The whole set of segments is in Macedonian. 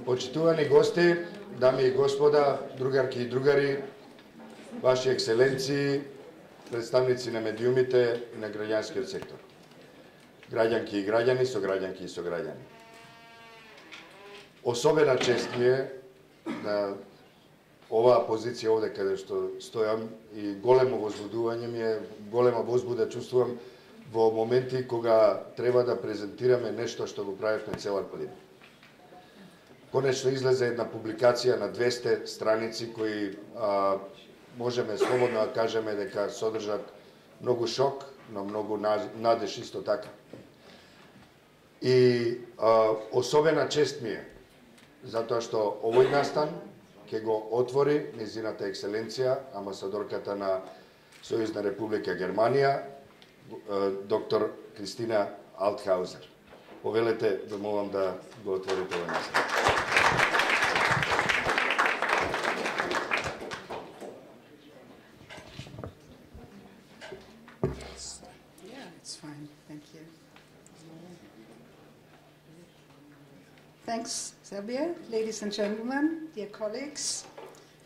Почитувани гости, дами и господа, другарки и другари, ваши екселенции, представници на медиумите и на граѓанскиот сектор, граѓанки и граѓани, сограѓанки и сограѓани. Особена чест ми е на оваа позиција овде каде што стојам и големо возбудување ми е, голема возбуда чувствувам во моменти кога треба да презентираме нешто што го правевме цела година. Конечно излезе една публикација на 200 страници кои можеме слободно да кажеме дека содржат многу шок, но многу надеж исто така. И особена чест ми е затоа што овој настан ќе го отвори незината екселенција, амбасадорката на Сојузна република Германија, доктор Кристина Алтхаузер. Повелете, да молам да го отворите овој настан. Thanks, Xavier. Ladies and gentlemen, dear colleagues,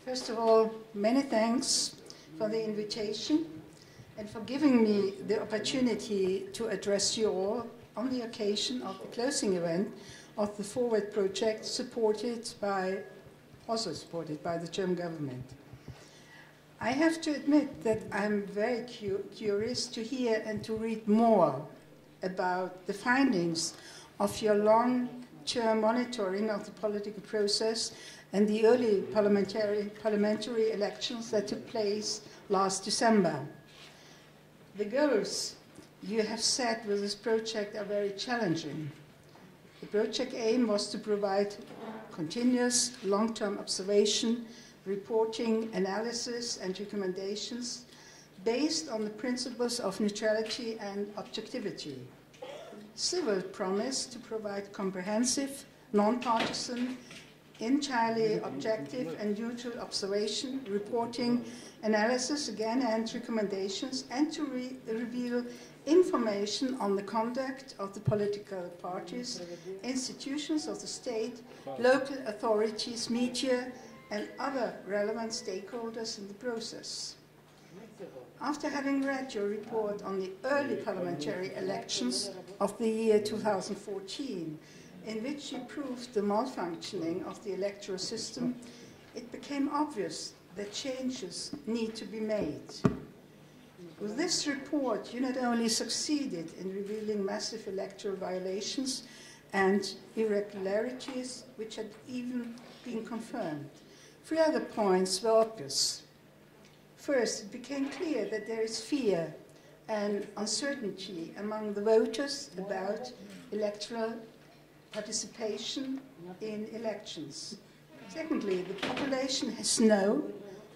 first of all, many thanks for the invitation and for giving me the opportunity to address you all on the occasion of the closing event of the Forward project also supported by the German government. I have to admit that I'm very curious to hear and to read more about the findings of your long-term monitoring of the political process and the early parliamentary elections that took place last December. The goals you have set with this project are very challenging. The project aim was to provide continuous long-term observation, reporting, analysis and recommendations based on the principles of neutrality and objectivity. Civil promised to provide comprehensive, non-partisan, entirely objective and neutral observation, reporting, analysis again and recommendations, and to reveal information on the conduct of the political parties, institutions of the state, local authorities, media, and other relevant stakeholders in the process. After having read your report on the early parliamentary elections of the year 2014, in which you proved the malfunctioning of the electoral system, it became obvious that changes need to be made. With this report, you not only succeeded in revealing massive electoral violations and irregularities, which had even been confirmed. 3 other points were obvious. First, it became clear that there is fear and uncertainty among the voters about electoral participation in elections. Secondly, the population has no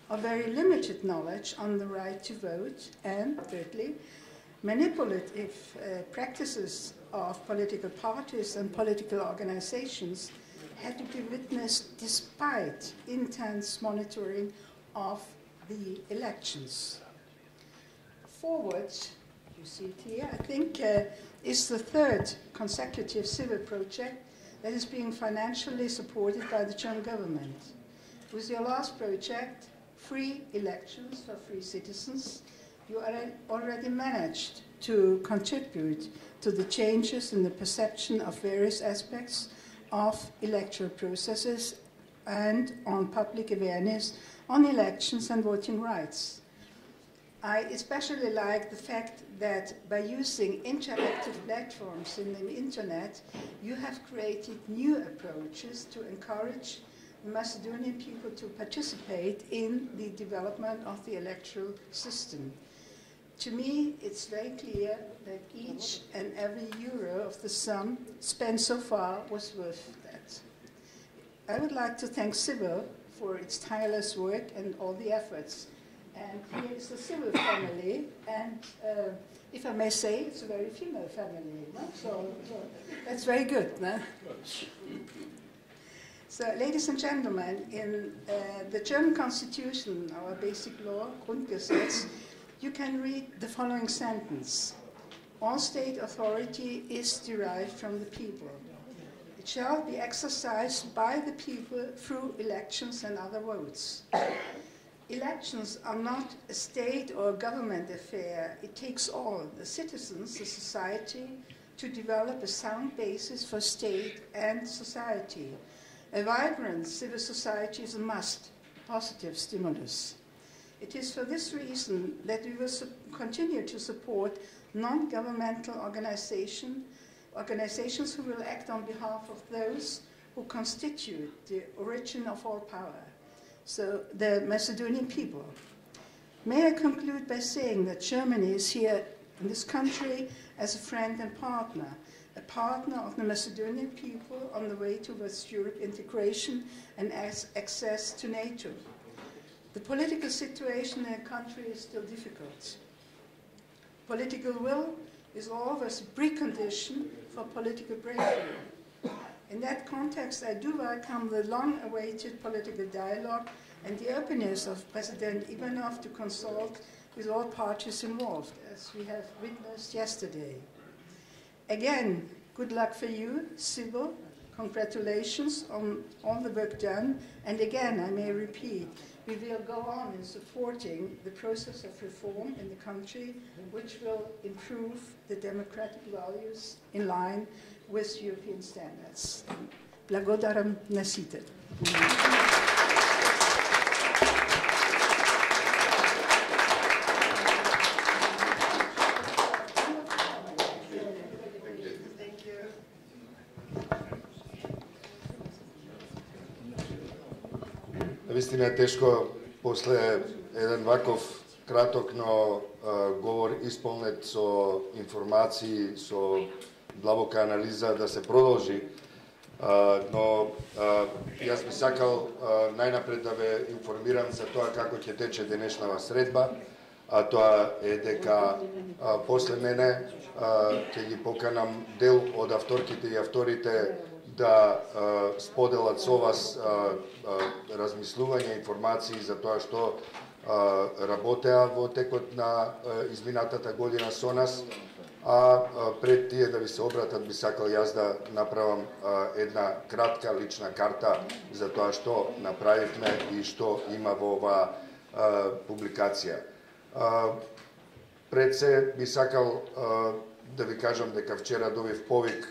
or very limited knowledge on the right to vote. And thirdly, manipulative practices of political parties and political organizations had to be witnessed despite intense monitoring of the elections. Forward, you see it here, I think, is the 3rd consecutive civil project that is being financially supported by the German government. With your last project, Free Elections for Free Citizens, you already managed to contribute to the changes in the perception of various aspects of electoral processes and on public awareness on elections and voting rights. I especially like the fact that by using interactive platforms in the internet, you have created new approaches to encourage the Macedonian people to participate in the development of the electoral system. To me, it's very clear that each and every euro of the sum spent so far was worth that. I would like to thank Civil for its tireless work and all the efforts. And here is the Civil family, and if I may say, it's a very female family, no? So that's very good. No? So, ladies and gentlemen, in the German Constitution, our basic law, Grundgesetz, you can read the following sentence. All state authority is derived from the people. It shall be exercised by the people through elections and other votes. Elections are not a state or a government affair. It takes all, the citizens, the society, to develop a sound basis for state and society. A vibrant civil society is a must, a positive stimulus. It is for this reason that we will continue to support non-governmental organizations who will act on behalf of those who constitute the origin of all power, so the Macedonian people. May I conclude by saying that Germany is here in this country as a friend and partner, a partner of the Macedonian people on the way towards Europe integration and access to NATO. The political situation in the country is still difficult. Political will is always a precondition for political breakthrough. In that context, I do welcome the long-awaited political dialogue and the openness of President Ivanov to consult with all parties involved, as we have witnessed yesterday. Again, good luck for you, Sybil. Congratulations on all the work done. And again, I may repeat, we will go on in supporting the process of reform in the country, which will improve the democratic values in line with European standards. Благодарам на сите. Вистина е тешко после еден ваков краток, но говор исполнет со информации, со длабока анализа да се продолжи. Но јас би сакал најнапред да ве информирам за тоа како ќе тече денешнава средба, а тоа е дека после мене ќе ги поканам дел од авторките и авторите да споделат со вас размислување, информации за тоа што работеа во текот на изминатата година со нас, а пред тие да ви се обратат би сакал јас да направам една кратка лична карта за тоа што направивме и што има во оваа публикација. Пред се би сакал да ви кажам дека вчера добив повик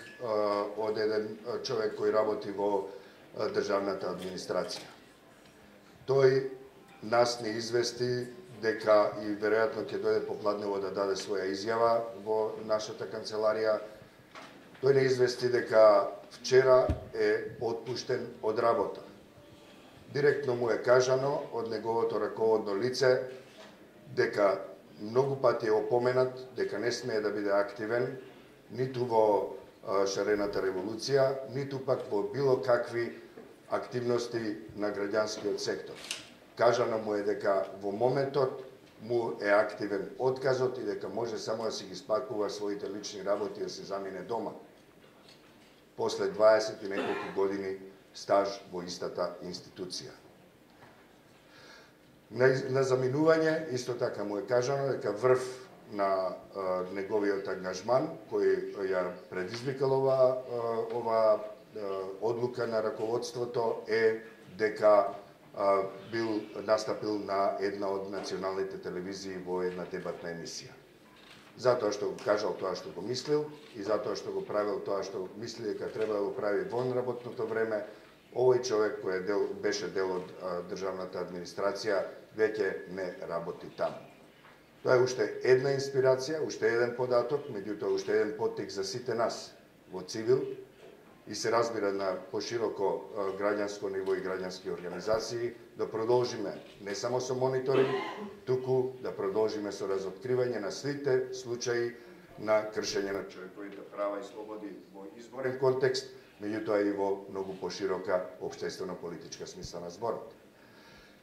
од еден човек кој работи во државната администрација. Тој нас не извести дека и веројатно ќе дојде попладнево да даде своја изјава во нашата канцеларија. Тој не извести дека вчера е отпуштен од работа. Директно му е кажано од неговото раководно лице дека многу пати е опоменат дека не смее да биде активен ниту во шарената револуција, ниту пак во било какви активности на граѓанскиот сектор. Кажано му е дека во моментот му е активен отказот и дека може само да си ги спакува своите лични работи и да се замине дома. После 20 и неколку години стаж во истата институција. На заминување исто така му е кажано дека врв на неговиот ангажман кој ја предизвикал ова одлука на раководството е дека бил настапил на една од националните телевизии во една дебатна емисија. Затоа што го кажал тоа што го мислил и затоа што го правил тоа што мисли дека треба да го прави вон работното време, овој човек кој беше дел од државната администрација веќе не работи таму. Тоа е уште една инспирација, уште еден податок, меѓутоа уште еден поттик за сите нас во цивил и се разбира на пошироко граѓанско ниво и граѓански организации да продолжиме не само со мониторинг, туку да продолжиме со разоткривање на сите случаи на кршење на човековите права и слободи во изборен контекст, меѓутоа и во многу поширока општествено-политичка смисла на зборот.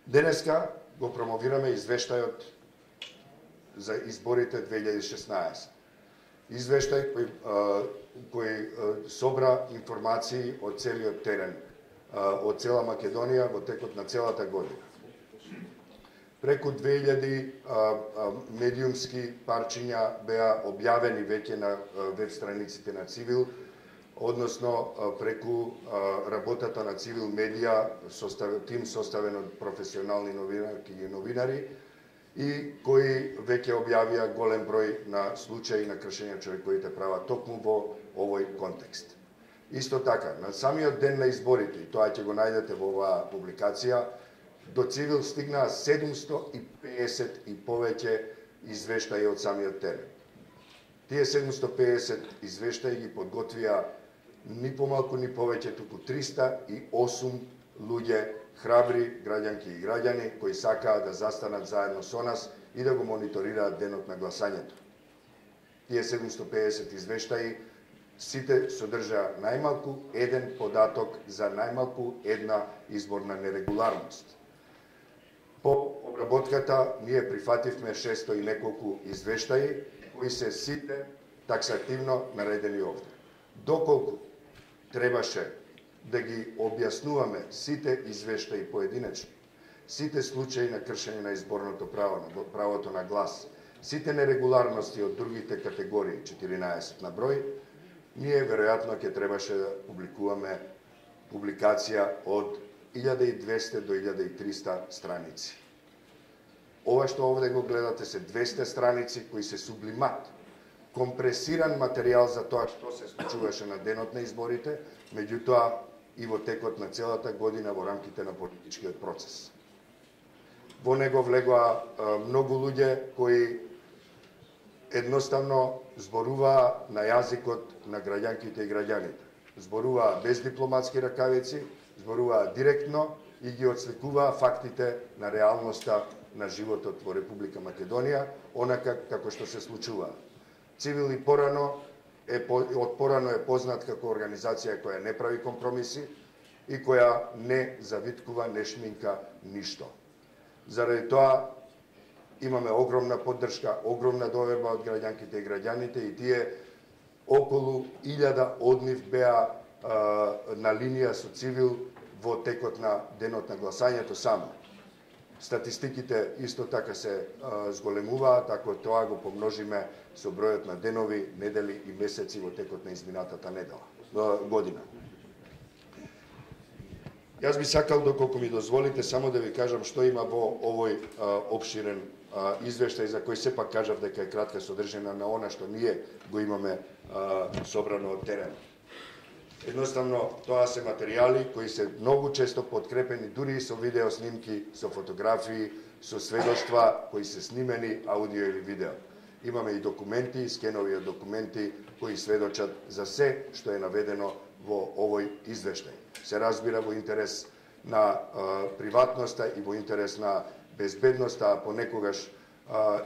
Денеска го промовираме извештајот за изборите 2016. Извештај кој собра информации од целиот терен, од цела Македонија во текот на целата година. Преку 2000 медиумски парчиња беа објавени веќе на веб страниците на Цивил, односно преку работата на Цивил медија, тим составен од професионални новинарки и новинари, и кои веќе објавија голем број на случаи на кршење човековите права токму во овој контекст. Исто така, на самиот ден на изборите, и тоа ќе го најдете во оваа публикација, до Цивил стигнаа 750 и повеќе извештаи од самиот терен. Тие 750 извештаи ги подготвија ни помалку ни повеќе туку 308 луѓе, храбри граѓанки и граѓани кои сакаат да застанат заедно со нас и да го мониторираат денот на гласањето. Тие 750 извештаи сите содржаа најмалку еден податок за најмалку една изборна нерегуларност. По обработката ние прифативме 600 и неколку извештаи кои се сите таксативно наредени овде. Доколку требаше да ги објаснуваме сите извештаи поединечно, сите случаи на кршење на изборното право, на правото на глас, сите нерегуларности од другите категории, 14 на број, ние веројатно ќе требаше да публикуваме публикација од 1200 до 1300 страници. Ова што овде го гледате се 200 страници кои се сублимат, компресиран материјал за тоа што се случуваше на денот на изборите, меѓутоа и во текот на целата година во рамките на политичкиот процес. Во него влегоа многу луѓе кои едноставно зборуваа на јазикот на граѓанките и граѓаните. Зборуваа без дипломатски ракавици, зборуваа директно и ги отсликуваа фактите на реалноста на животот во Република Македонија, онака како што се случуваа. Цивил и порано е познат како организација која не прави компромиси и која не завиткува, не шминка ништо. Заради тоа имаме огромна поддршка, огромна доверба од граѓанките и граѓаните и тие околу 1000 од нив беа на линија со Цивил во текот на денот на гласањето само. Статистиките исто така се зголемуваат, ако тоа го помножиме со бројот на денови, недели и месеци во текот на изминатата година. Јас би сакал, доколку ми дозволите, само да ви кажам што има во овој опширен извештај, за кој сепак кажав дека е кратка содржина на она што ние го имаме собрано од терен. Едноставно, тоа се материјали кои се многу често подкрепени дури и со видео снимки, со фотографии, со сведоштва кои се снимени, аудио или видео. Имаме и документи, скенови од документи кои сведочат за се што е наведено во овој извештај. Се разбира во интерес на приватноста и во интерес на безбедноста, а понекогаш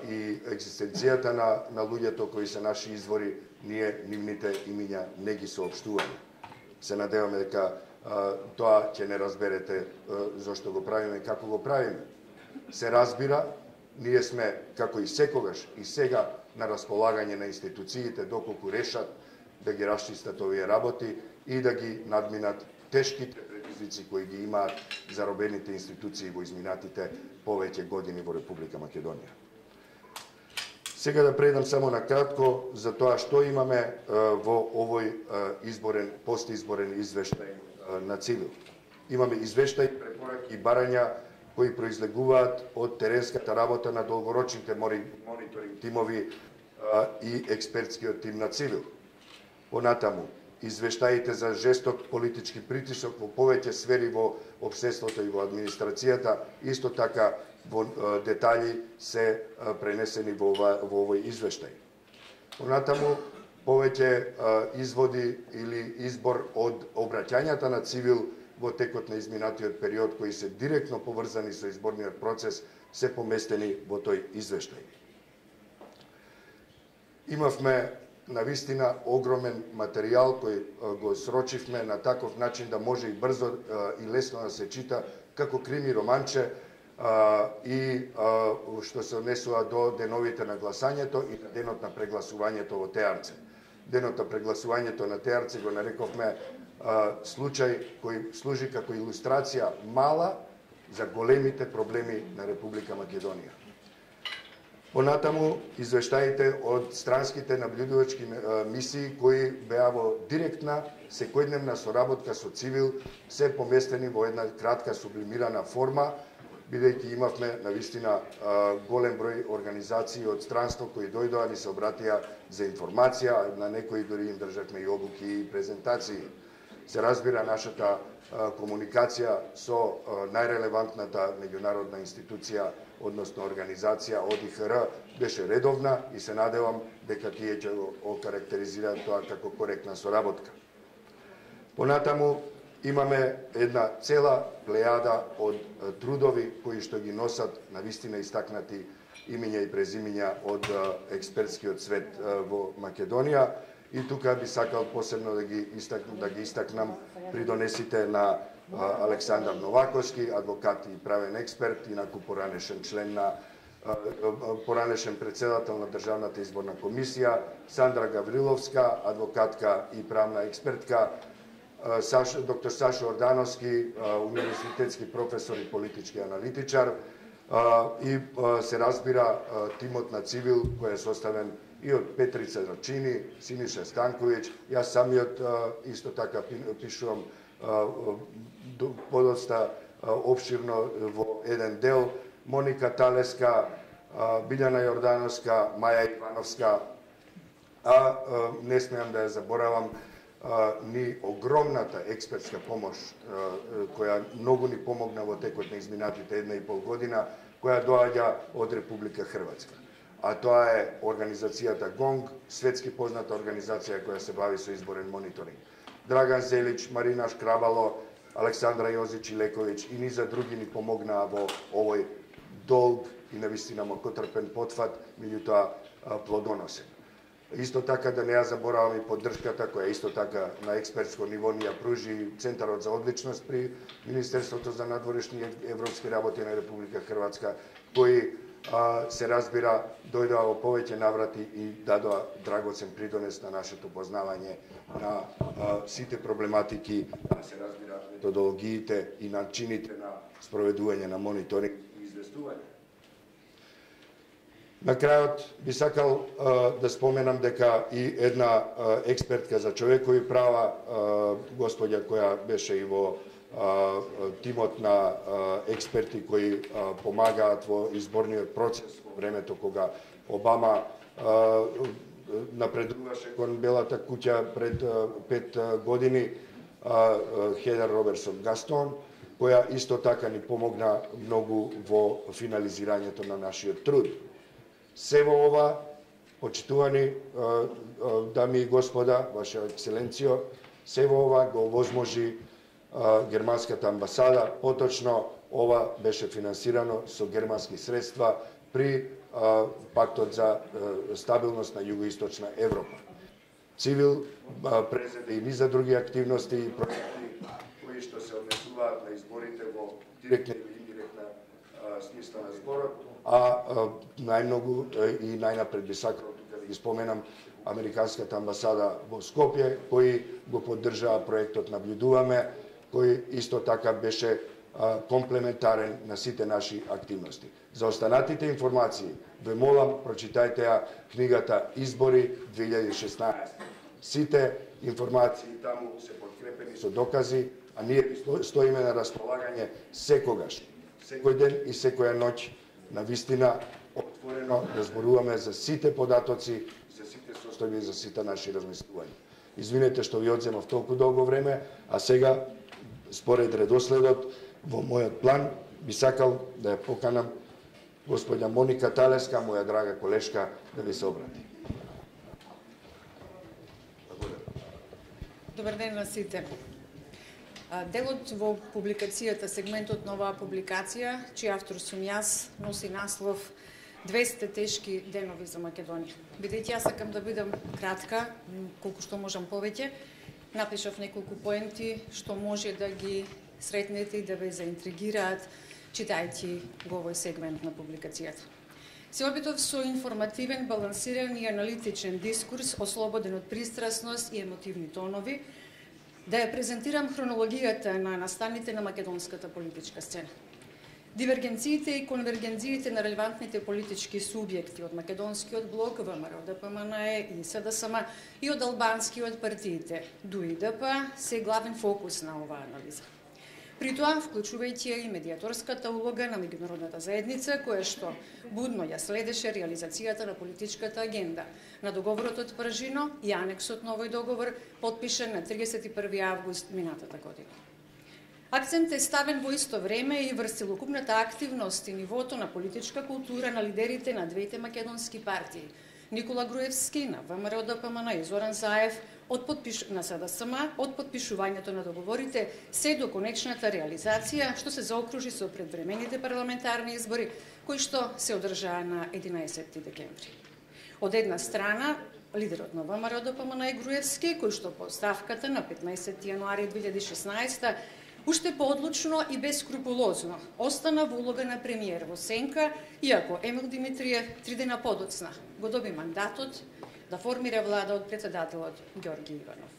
и екзистенцијата на луѓето кои се наши извори, ние нивните имиња не ги соопштуваме. Се надеваме дека тоа ќе не разберете зошто го правиме и како го правиме. Се разбира, ние сме, како и секогаш и сега, на располагање на институциите доколку решат да ги расчистат овие работи и да ги надминат тешките предизвици кои ги имаат заробените институции во изминатите повеќе години во Република Македонија. Сега да предам само на кратко за тоа што имаме во овој постизборен извештај на Цивил. Имаме извештај, препораки и барања кои произлегуваат од теренската работа на долгорочните мониторинг тимови и експертскиот тим на Цивил. Понатаму, извештаите за жесток политички притисок во повеќе сфери во општеството и во администрацијата, исто така во детали се пренесени во овој извештај. Понатаму, повеќе изводи или избор од обраќањата на Цивил во текот на изминатиот период, кои се директно поврзани со изборниот процес, се поместени во тој извештај. Имавме навистина огромен материјал кој го срочивме на таков начин да може и брзо и лесно да се чита како крими романче и што се однесува до деновите на гласањето и денот на прегласувањето во Теарце. Денот на прегласувањето на Теарце го нарековме случај кој служи како илустрација мала за големите проблеми на Република Македонија. Понатаму, извештаите од странските наблюдувачки мисии кои беа во директна, секојдневна соработка со цивил, се поместени во една кратка сублимирана форма, бидејќи имавме навистина голем број организации од странство кои дојдоа ни се обратија за информација, на некои дори им државме и обуки и презентации. Се разбира, нашата комуникација со најрелевантната меѓународна институција, односно организација ОДИХР, беше редовна и се надевам дека тие ќе го окарактеризираат тоа како коректна соработка. Понатаму имаме една цела плејада од трудови кои што ги носат навистина истакнати имиња и презимиња од експертскиот свет во Македонија. И тука би сакал посебно да ги истакнам придонесите на Александар Новаковски, адвокат и правен експерт, инаку поранешен член на поранешен председател на Државната изборна комисија, Сандра Гавриловска, адвокатка и правна експертка, доктор Сашо Ордановски, универзитетски професор и политички аналитичар, и се разбира тимот на цивил кој е составен и од Петрица Рачини, Синиша Станковиќ, јас самиот исто така пишувам подоста опширно во еден дел, Моника Талеска, Билјана Јордановска, Маја Ивановска, а не смеам да ја заборавам ни огромната експертска помош која многу ни помогна во текот на изминатите 1,5 година, која доаѓа од Република Хрватска. А тоа е организацијата ГОНГ, светски позната организација која се бави со изборен мониторинг. Драган Зелич, Марина Шкрабало, Александра Јозич Илековиќ и низа други ни помогнаа во овој долг и навистина мокотрпен потфат, меѓутоа плодоносен. Исто така да не ја заборавам и поддршката која исто така на експертско ниво ни ја пружи Центарот за одличност при Министерството за надворешни европски работи на Република Хрватска, кои се разбира дојдоа во повеќе наврати и дадоа драгоцен придонес на нашето познавање на сите проблематики, се разбира методологиите и начините на спроведување на мониторинг и известување. На крајот би сакал да споменам дека и една експертка за човекови права, господја која беше и во тимот на експерти кои помагаат во изборниот процес во времето кога Обама напредуваше кон Белата куќа пред 5 години, Хедер Робертсон Гастон, која исто така ни помогна многу во финализирањето на нашиот труд. Се во ова, почитувани дами и господа, Ваша екселенцијо, се во ова го овозможи германската амбасада, поточно ова беше финансирано со германски средства при Пактот за стабилност на Југоисточна Европа. Цивил презеде и низа други активности и проекти кои што се однесуваат на изборите во директна или индиректна смисла на зборот, а најмногу и најнапред би сакал тука да ги споменам Американската амбасада во Скопје, кои го поддржаа проектот Наблюдуваме, кој исто така беше комплементарен на сите наши активности. За останатите информации, ве молам, прочитајте ја книгата Избори 2016. Сите информации таму се подкрепени со докази, а ние стоиме на располагање секогаш, секој ден и секоја ноќ, на вистина отворено да зборуваме за сите податоци, за сите состојби и за сите наши размислувања. Извинете што ви одземав толку долго време, а сега според редоследот во мојот план би сакал да ја поканам господја Моника Талеска, моја драга колешка, да ви се обрати. Добар ден на сите. Делот во публикацијата, сегментот на оваа публикација, чиј автор сум јас, носи наслов 200 тешки денови за Македонија. Бидејќи јас сакам да бидам кратка, колку што можам повеќе, напишав неколку поенти што може да ги сретнете и да ве заинтригираат, читајќи го овој сегмент на публикацијата. Се обидов со информативен, балансиран и аналитичен дискурс, ослободен од пристрасност и емотивни тонови, да ја презентирам хронологијата на настаните на македонската политичка сцена. Дивергенциите и конвергенциите на релевантните политички субјекти од македонскиот блок, ВМРО, ДПМНЕ и СДСМ и од албанскиот партиите, ДУИ ДП, се главен фокус на оваа анализа. При тоа, вклучувајќи и медиаторската улога на меѓународната заедница, која што будно ја следеше реализацијата на политичката агенда на договорот од Пржино и анексот на овој договор, подпишан на 31 август минатата година. Акцент е ставен во исто време и врз целокупната активност и нивото на политичка култура на лидерите на двете македонски партии, Никола Груевски на ВМРО ДПМН и Зоран Заев на СДСМ, од подпишувањето на договорите се до конечната реализација, што се заокружи со предвремените парламентарни избори, кои што се одржаа на 11 декември. Од една страна, лидерот на ВМРО ДПМН Груевски, кој што по ставката на 15 јануари 2016 уште поодлучно и бескрупулозно остана во улога на премиер во сенка, иако Емил Димитриев 3 дена подоцна го доби мандатот да формира влада од председателот Ѓорги Иванов.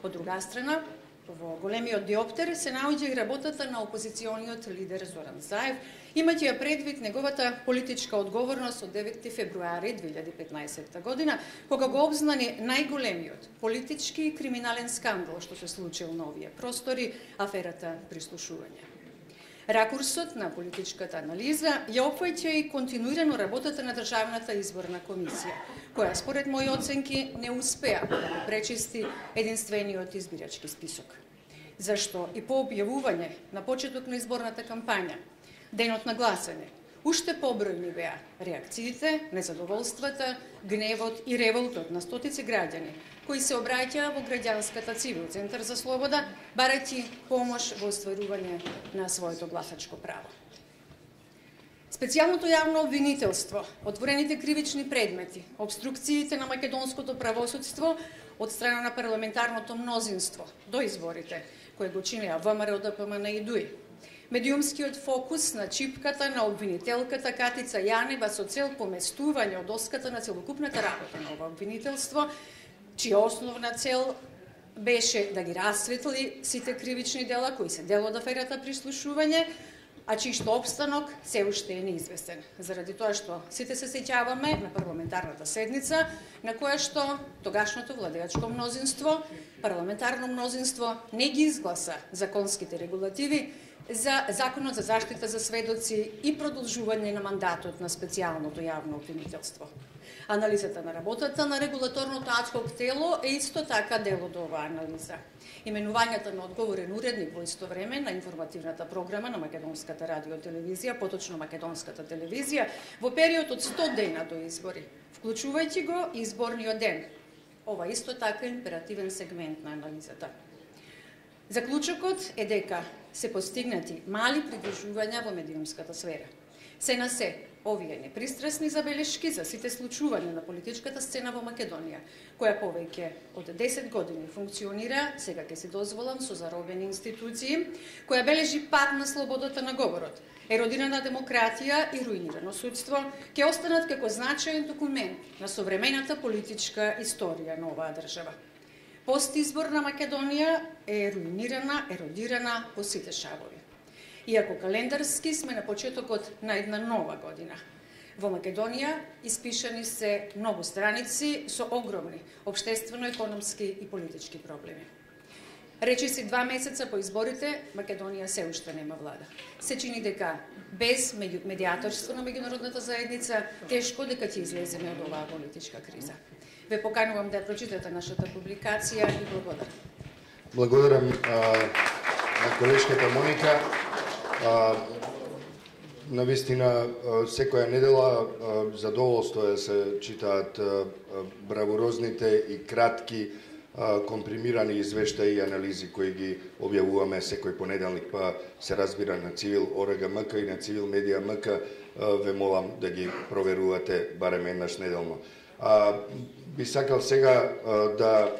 Од друга страна, во големиот диоптер се наоѓа и работата на опозициониот лидер Зоран Заев, имајќи ја предвид неговата политичка одговорност од 9 февруари 2015 година, кога го обзнани најголемиот политички и криминален скандал што се случил на овие простори, аферата прислушување. Ракурсот на политичката анализа ја опфаќа и континуирано работата на Државната изборна комисија, која според мои оценки не успеа да го пречисти единствениот избирачки список. Зашто и по објавување на почеток на изборната кампања, денот на гласање, уште побројни беа реакциите, незадоволствата, гневот и револтот на стотици граѓани, кои се обраќаа во граѓанската цивил Центар за слобода, барајќи помош во остварување на своето гласачко право. Специјалното јавно обвинителство, отворените кривични предмети, обструкциите на македонското правосудство од страна на парламентарното мнозинство до изборите, кои го чинеа ВМРО ДПМН и ДУИ, медиумскиот фокус на чипката на обвинителката Катица Јанева со цел поместување од доската на целокупната работа на ова обвинителство, чија основна цел беше да ги расветли сите кривични дела кои се дел од аферата прислушување, а чиј што обстанок се уште е неизвестен. Заради тоа што сите се сеќаваме на парламентарната седница, на која што тогашното владеачко мнозинство, парламентарно мнозинство не ги изгласа законските регулативи за Законот за заштита за сведоци и продолжување на мандатот на специјалното јавно обвинителство. Анализата на работата на регулаторното адхок тело е исто така дел од оваа анализа. Именувањата на одговорен уредник во исто време на информативната програма на Македонската радиотелевизија, поточно Македонската телевизија, во период од 100 дена до избори, вклучувајќи го изборниот ден. Ова исто така е императивен сегмент на анализата. Заклучокот е дека се постигнати мали придружувања во медиумската сфера. Се на се, овие непристрасни забелешки за сите случувања на политичката сцена во Македонија, која повеќе од 10 години функционира, сега ќе си дозволам, со заробени институции, која бележи пад на слободата на говорот, еродирана демократија и руинирано судство, ќе останат како значаен документ на современата политичка историја на оваа држава. Постизборна Македонија е руинирана, еродирана по сите шавови. Иако календарски сме на почетокот на една нова година. Во Македонија испишани се многу страници со огромни општествено-економски и политички проблеми. Речиси 2 месеца по изборите, Македонија се уште нема влада. Се чини дека без медиаторство на меѓународната заедница тешко дека ќе излеземе од оваа политичка криза. Ве поканувам да прочитате нашата публикација и благодарам. Благодарам на колешката Моника. Навистина, секоја недела задоволство е се читаат бравурозните и кратки компримирани извештаи и анализи кои ги објавуваме секој понеделник, па се разбира на Цивил ОРГ-МК и на Цивил Медија МК, ве молам да ги проверувате барем еднаш неделно. Би сакал сега да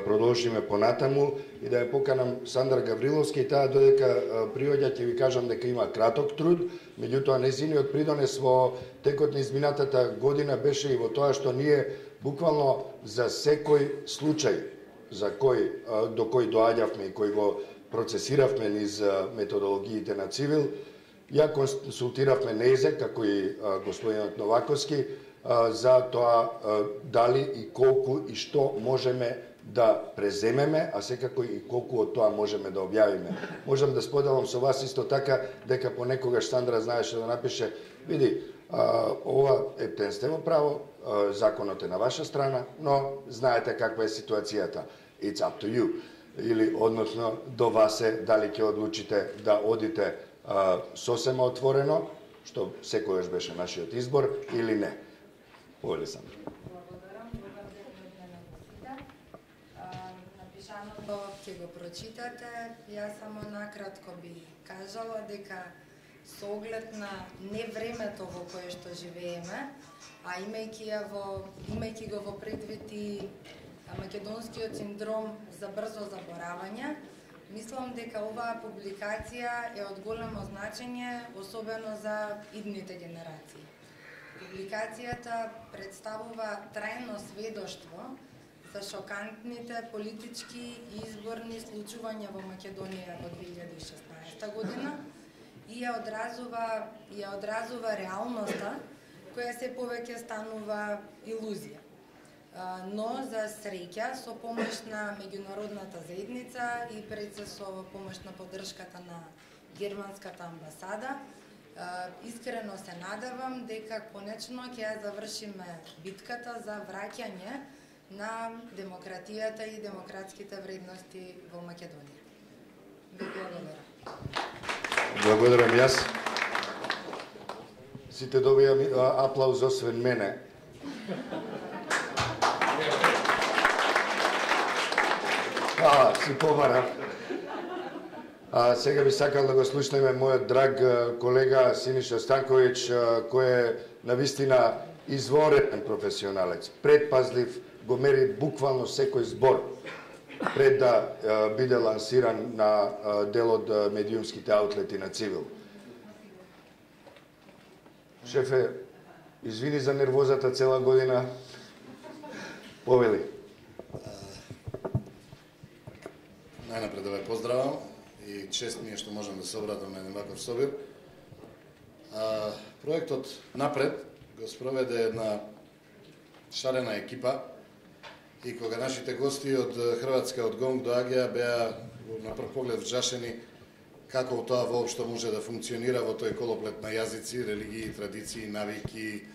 продолжиме понатаму и да ја поканам Сандра Гавриловски, и таа додека приоѓа ќе ви кажам дека има краток труд, меѓутоа незиниот придонес во текот на изминатата година беше и во тоа што ние буквално за секој случај до кој доаѓавме и кој го процесиравме низ методологиите на Цивил, Ја консултиравме незе, како и господинот Новаковски, за тоа дали и колку и што можеме да преземеме, а секако и колку од тоа можеме да објавиме. Можам да споделам со вас исто така дека понекогаш Сандра знаеше да напише, види, ова ептен сте во право, законот е на ваша страна, но знаете каква е ситуацијата. It's up to you. Или, односно, до вас е дали ќе одлучите да одите сосема отворено, што секојаш беше нашиот избор, или не. Повели сам. Благодарам. Добар ден од мене на сите. Напишаното ќе го прочитате. Јас само накратко би кажала дека со оглед на не времето во кое што живееме, а имајќи го во предвид и македонскиот синдром за брзо заборавање, мислам дека оваа публикација е од големо значење, особено за идните генерации. Публикацијата представува трајно сведоштво за шокантните политички и изборни случувања во Македонија во 2016 година и ја одразува реалноста која се повеќе станува илузија. Но за среќа, со помош на меѓународната заедница и пред се со помош на поддршката на германската амбасада, искрено се надевам дека конечно ќе ја завршиме битката за враќање на демократијата и демократските вредности во Македонија. Ви благодарам. Благодарам јас. Сите добија аплауз освен мене. Си побарам. Сега би сакал да го слушнеме мојот драг колега Синиша Станковиќ, кој е навистина изворен професионалец, предпазлив, го мери буквално секој збор пред да биде лансиран на дел од медиумските аутлети на Цивил. Шефе, извини за нервозата цела година. Повели. Најнапред да ве поздравам и чест ми е што можам да се обратам на еден ваков собир. Проектот Напред го спроведе една шарена екипа и кога нашите гости од Хрватска, од Гонг доаѓаа, беа на прв поглед вжашени како тоа воопшто може да функционира во тој колоплет на јазици, религии, традиции, навики,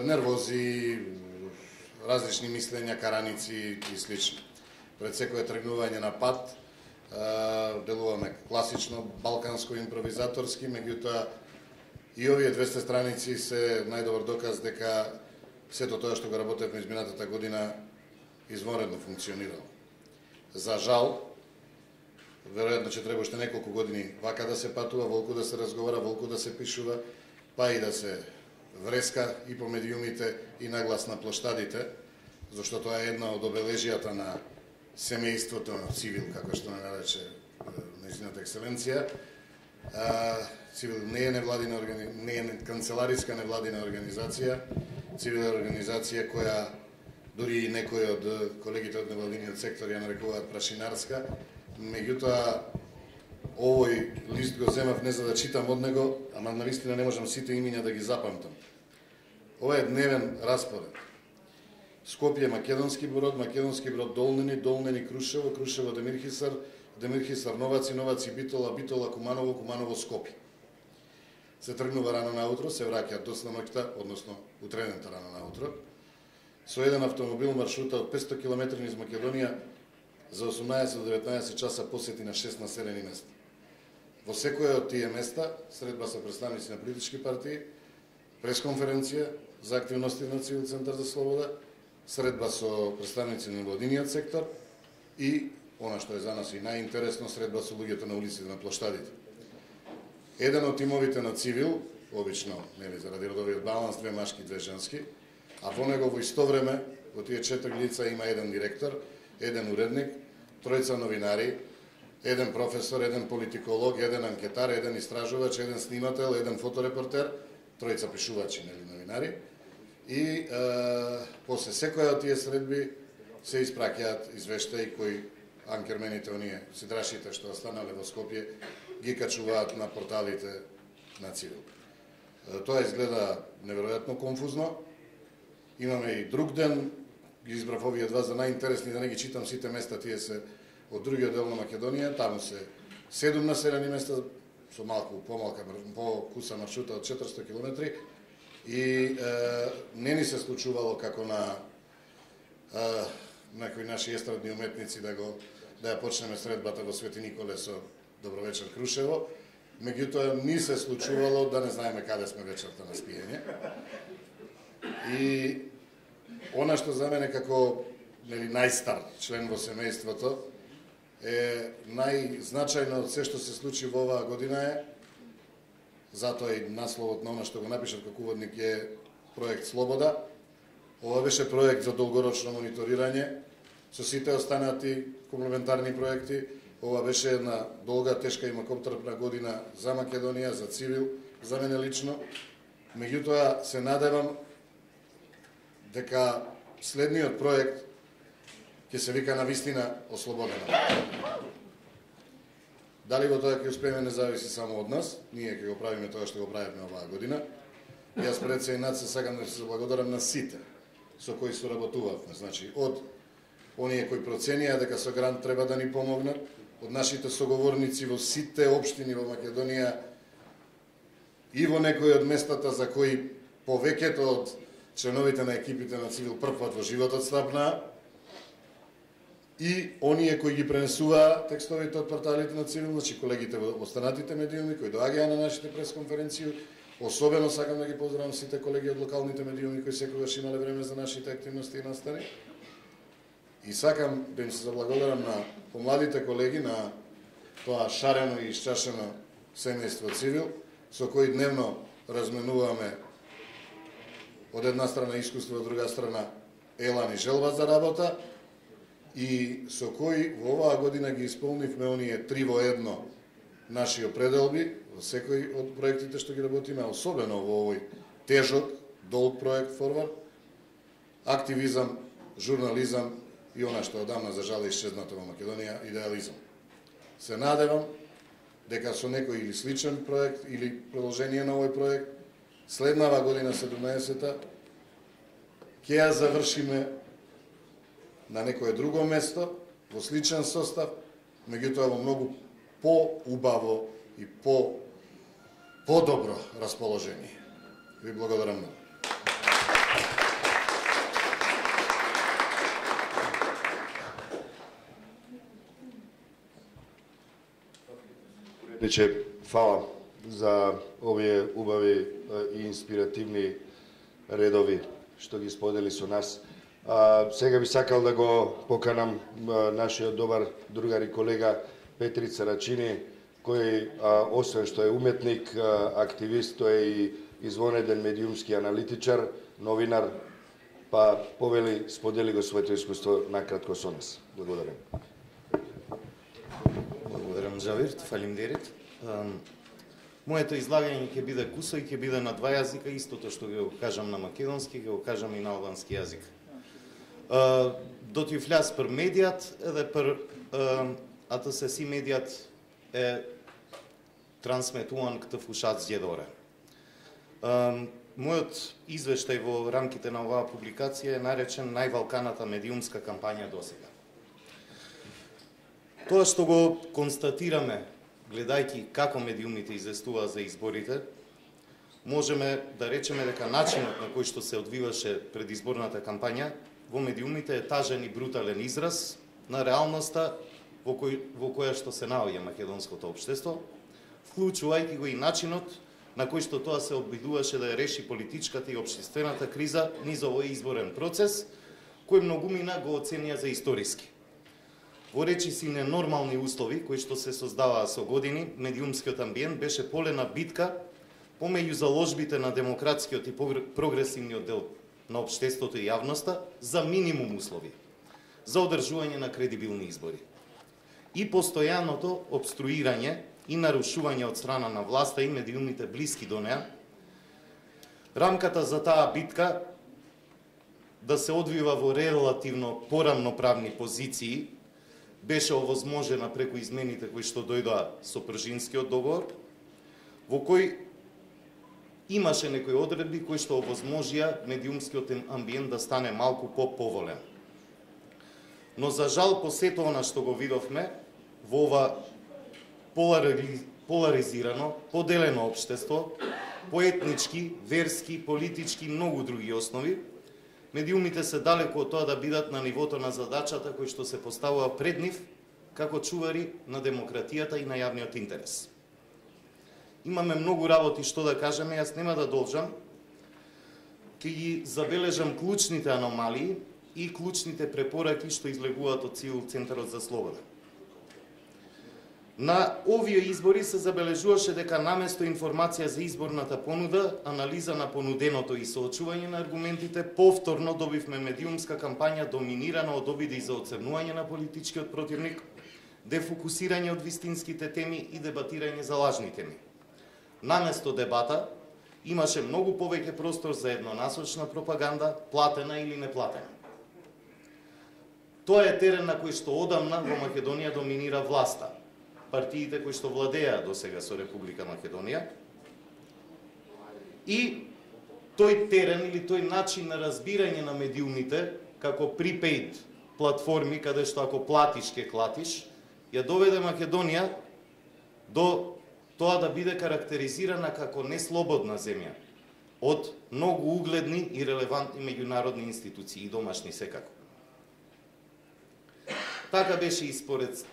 нервози, различни мислења, караници и слично. Пред секое тргнување на пат, делуваме класично, балканско, импровизаторски, меѓутоа и овие 200 страници се најдобар доказ дека сето тоа што го работевме изминатата година изворедно функционирало. За жал, веројатно ќе треба уште неколку години вака да се патува, волку да се разговара, волку да се пишува, па и да се вреска и по медиумите и наглас на плоштадите, зашто тоа е една од обележијата на семејството на Цивил, како што ме нарече нејзината екселенција. Цивил не е невладина не е канцелариска невладина организација. Цивил е организација која дури и некои од колегите од невладиниот сектор ја нарекуваат прашинарска. Меѓутоа, овој лист го земав не за да читам од него, ама навистина не можам сите имиња да ги запамтам. Ова е дневен распоред. Скопје македонски брод Долнени, Долнени Крушево, Крушево Демирхисар, Демирхисар Новаци, Новаци Битола, Битола Куманово, Куманово Скопје. Се тргнува рано наутро, се враќаат до ноќта, односно утредента рано наутро. Со еден автомобил маршрута од 500 км низ Македонија за 18 до 19 часа посети на 6 населени места. Во секоја од тие места средба со представници на политички партии, пресконференција за активности на Цивил Центар за слобода, средба со представници на владиниот сектор и, она што е за нас и најинтересно, средба со луѓето на улиците на плоштадите. Еден од тимовите на Цивил, обично, нели, заради родовиот баланс, 2 машки, 2 женски, а во него во исто време, во тие 4 лица има еден директор, еден уредник, 3 новинари, еден професор, еден политиколог, еден анкетар, еден истражувач, еден снимател, еден фоторепортер, 3 пишувачи, нели, новинари. И после секоја од тие средби се испраќаат извештаи кои анкермените, оние сидрашите што останале во Скопје, ги качуваат на порталите на Цивил. Тоа изгледа неверојатно конфузно. Имаме и друг ден, ги избрав овие два за најинтересни, да не ги читам сите места, тие се од другиот дел на Македонија, таму се 7 населени места со малку по-куса маршрута од 400 км и не ни се случувало како на некои наши естрадни уметници да ја почнеме средбата во Свети Николе со Добро вечер Крушево, меѓутоа ни се случувало да не знаеме каде сме вечерта на спиење. И она што за мене како најстар член во семејството е најзначајно од се што се случи во оваа година е, затоа и насловот на она што го напишав како уводник е проект Слобода. Ова беше проект за долгорочно мониторирање со сите останати комплементарни проекти. Ова беше една долга, тешка и макотрпна година за Македонија, за Цивил, за мене лично. Меѓутоа се надевам дека следниот проект ќе се вика навистина Ослободена. Дали во тоа ќе успееме не зависи само од нас, ние ќе го правиме тоа што го правиме оваа година. Јас пред се и над се сакам да се благодарам на сите со кои соработувавме, значи од оние кои проценија дека со грант треба да ни помогнат, од нашите соговорници во сите општини во Македонија и во некои од местата за кои повеќето од членовите на екипите на Цивил првпат во животот стапнаа, и оние кои ги пренесуваа текстовите од порталите на Цивил, значи колегите во останатите медиуми кои доаѓаа на нашите пресконференции. Особено сакам да ги поздравам сите колеги од локалните медиуми кои секогаш имале време за нашите активности и настани. И сакам да им се заблагодарам на помладите колеги на тоа шарено и исчашено семејство Цивил, со кои дневно разменуваме од една страна искуство, од друга страна елан и желба за работа, и со кои во оваа година ги исполнивме оние 3 во 1 наши определби во секој од проектите што ги работиме, особено во овој тежок, долг проект Форвард, активизам, журнализам и она што одамна за жал исчезнато во Македонија, идеализам. Се надевам дека со некој или сличен проект или продолжение на овој проект, следнава година 17-та ќе ја завршиме на некое друго место, во сличен состав, меѓутоа во многу по-убаво и по-добро расположение. Ви благодарам многу. Фала за овие убави и инспиративни редови што ги сподели со нас. Сега би сакал да го поканам нашиот добар другар и колега Петрица Рачини, кој освен што е уметник, активист, тој е и извонеден медиумски аналитичар, новинар, па повели, сподели го своето искуство накратко со нас. Благодарам. Благодарам, Джавир, фалимдерит. Моето излагање ќе биде кусо и ќе биде на два јазика, истото што ќе го кажам на македонски, ќе го кажам и на албански јазик. Do t'ju flas për mediat edhe për atë se si mediat e transmetuan këtë fushat zgjedhore. Мојот извештај во рамките на оваа публикација е наречен највалканата медиумска кампања досега. Тоа што го констатираме, гледајќи како медиумите известуваа за изборите, можеме да речеме дека начинот на кој што се одвиваше предизборната кампања во медиумите е тажен и брутален израз на реалноста во која што се наоѓа македонското општество, вклучувајќи го и начинот на кој што тоа се обидуваше да ја реши политичката и општествената криза низ овој изборен процес, кој многумина го оценија за историски. Во речиси ненормални услови кои што се создаваа со години, медиумскиот амбиент беше полена битка помеѓу заложбите на демократскиот и прогресивниот дел на општеството и јавноста за минимум услови за одржување на кредибилни избори и постојаното обструирање и нарушување од страна на власта и медиумите блиски до неа. Рамката за таа битка да се одвива во релативно порамноправни позиции беше овозможена преку измените кои што дојдоа со Пржинскиот договор, во кој имаше некои одредби кои што овозможија медиумскиот амбиент да стане малку по-поволен. Но за жал, по сето она што го видовме во ова поларизирано, поделено општество, по етнички, верски, политички и многу други основи, медиумите се далеку од тоа да бидат на нивото на задачата кој што се поставува пред нив како чувари на демократијата и на јавниот интерес. Имаме многу работи што да кажеме, јас нема да должам, ќе ги забележам клучните аномалии и клучните препораки што излегуваат од Цивил Центарот за слобода. На овие избори се забележуваше дека наместо информација за изборната понуда, анализа на понуденото и соочување на аргументите, повторно добивме медиумска кампања доминирана од обиди за оцрнување на политичкиот противник, дефокусирање од вистинските теми и дебатирање за лажни теми. Наместо дебата, имаше многу повеќе простор за еднонасочна пропаганда, платена или неплатена. Тоа е терен на кој што одамна во Македонија доминира власта, партиите кои што владеа до сега со Република Македонија, и тој терен или тој начин на разбирање на медиумите како prepaid платформи каде што ако платиш ке клатиш, ја доведе Македонија до тоа да биде карактеризирана како неслободна земја од многу угледни и релевантни меѓународни институции и домашни секако. Така беше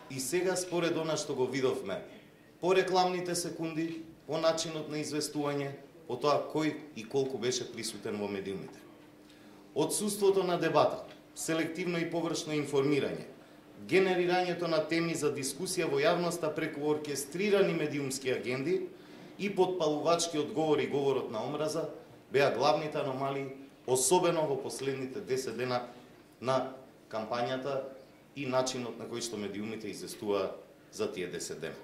и сега според она што го видовме по рекламните секунди, по начинот на известување, по тоа кој и колку беше присутен во медиумите. Отсуството на дебата, селективно и површно информирање, генерирањето на теми за дискусија во јавноста преку оркестрирани медиумски агенди и подпалувачки одговори и говорот на омраза беа главните аномалии, особено во последните 10 дена на кампањата и начинот на кој што медиумите известуваа за тие 10 дена.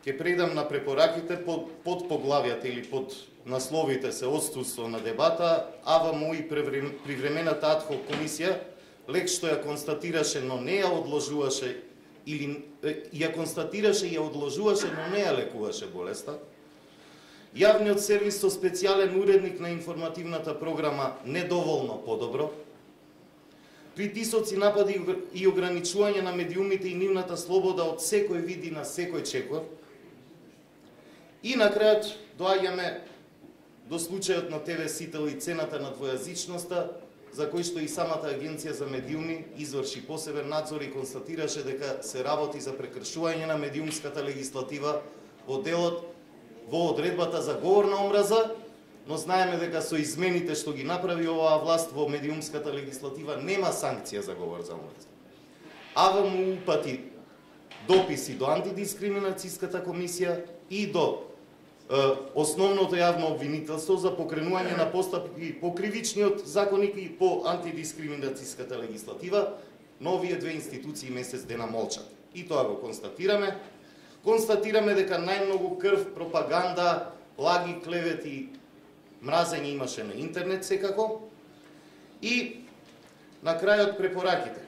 Ке предам на препораките под поглавијата или под насловите се отсутство на дебата, АВМУ и привремената адхок комисија, лек што ја констатираше, но не ја одложуваше, или ја констатираше и ја одложуваше, но не ја лекуваше болеста. Јавниот сервис со специјален уредник на информативната програма недоволно подобро. Притисоци, напади и ограничување на медиумите и нивната слобода од секој вид и на секој чекор. И на крајот доаѓаме до случајот на ТВ Сител и цената на двојазичноста, за кој што и самата агенција за медиуми изврши посебен надзор и констатираше дека се работи за прекршување на медиумската легислатива во делот во одредбата за говор на омраза, но знаеме дека со измените што ги направи оваа власт во медиумската легислатива нема санкција за говор за омраза. АВМУ упати дописи до антидискриминацијската комисија и до основното јавно обвинителство за покренување на постапки по кривичниот законник и по антидискриминацијската легислатива, но овие две институции месец дена молчат. И тоа го констатираме. Констатираме дека најмногу крв, пропаганда, лаги, клевети, мразење имаше на интернет секако. И на крајот препораките.